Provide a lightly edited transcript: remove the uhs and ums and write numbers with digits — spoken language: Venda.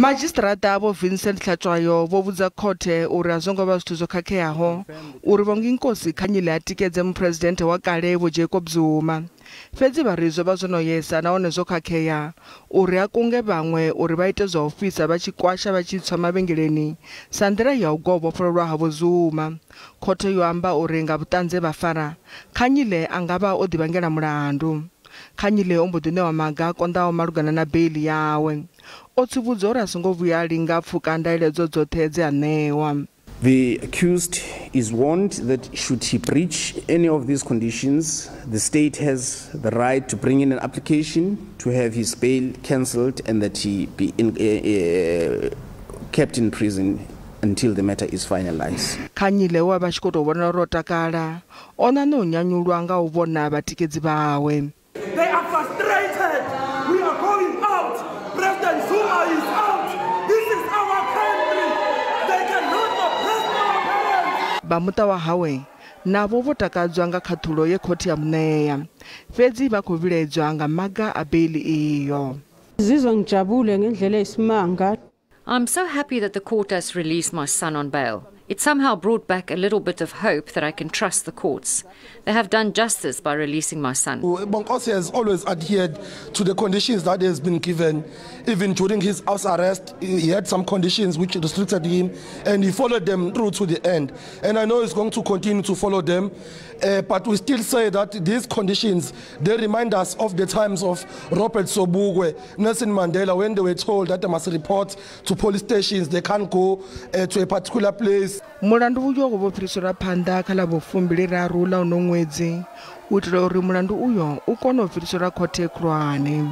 Madzhisiṱiraṱa Vho Vincent Hlatshwayo vho vhudza khothe uri a zwo ngo vha zwithu zwo khakheaho uri Bonginkosi Khanyile a tikedze muphuresidennde wa kale Vho Jacob Zuma. Fhedzi vha ri zwo vha zwo no yesa nahone zwo khakhea uri a kunge vhaṅwe uri vha ite zwa u fhisa vha tshi kwasha vha tshi tswa mavhengeleni sa nḓila ya u gwa u vhofhololwa ha Vho Zuma. Khothe yo amba uri nga vhuṱanzi he vha fara, Khanyile a nga vha o ḓivhangela mulandu. Khanyile o mbo ḓi ṋewa maga a konḓaho malugana na beiḽi yawe. O tsivhudzwa uri a songo vhuya a linga pfuka ndaeledzo dzoṱhe dze a ṋewa. The accused is warned that should he breach any of these conditions, the state has the right to bring in an application to have his bail cancelled and that he be kept in prison until the matter is finalized. Khanyile we a vha tshi khou tou vhonala uri o takala, o ṋaṋa u nyanyulwa nga u vhona vhatikedzi vhawe. They are frustrated. We are going out. President Zuma is out. This is our country. They cannot oppress our parents. Vha muṱa wa hawe navho vho takadzwa nga khaṱhulo ye khothe ya muṋea, fhedzi vha khou vhilaedzwa nga maga a beiḽi iyo. Ngizizwa ngijabule ngendlela eyisimanga. I'm so happy that the court has released my son on bail. It somehow brought back a little bit of hope that I can trust the courts. They have done justice by releasing my son. Bonginkosi has always adhered to the conditions that has been given. Even during his house arrest, he had some conditions which restricted him, and he followed them through to the end. And I know he's going to continue to follow them, but we still say that these conditions, they remind us of the times of Robert Sobukwe, Nelson Mandela, when they were told that they must report to police stations, they can't go to a particular place. Mulandu uyo wo fhiriselwa phanḓa kha ḽa vhu23 ḽa uno ṅwedzi u itela uri mulandu uyo u kone u fhiriselwa khothe khulwane.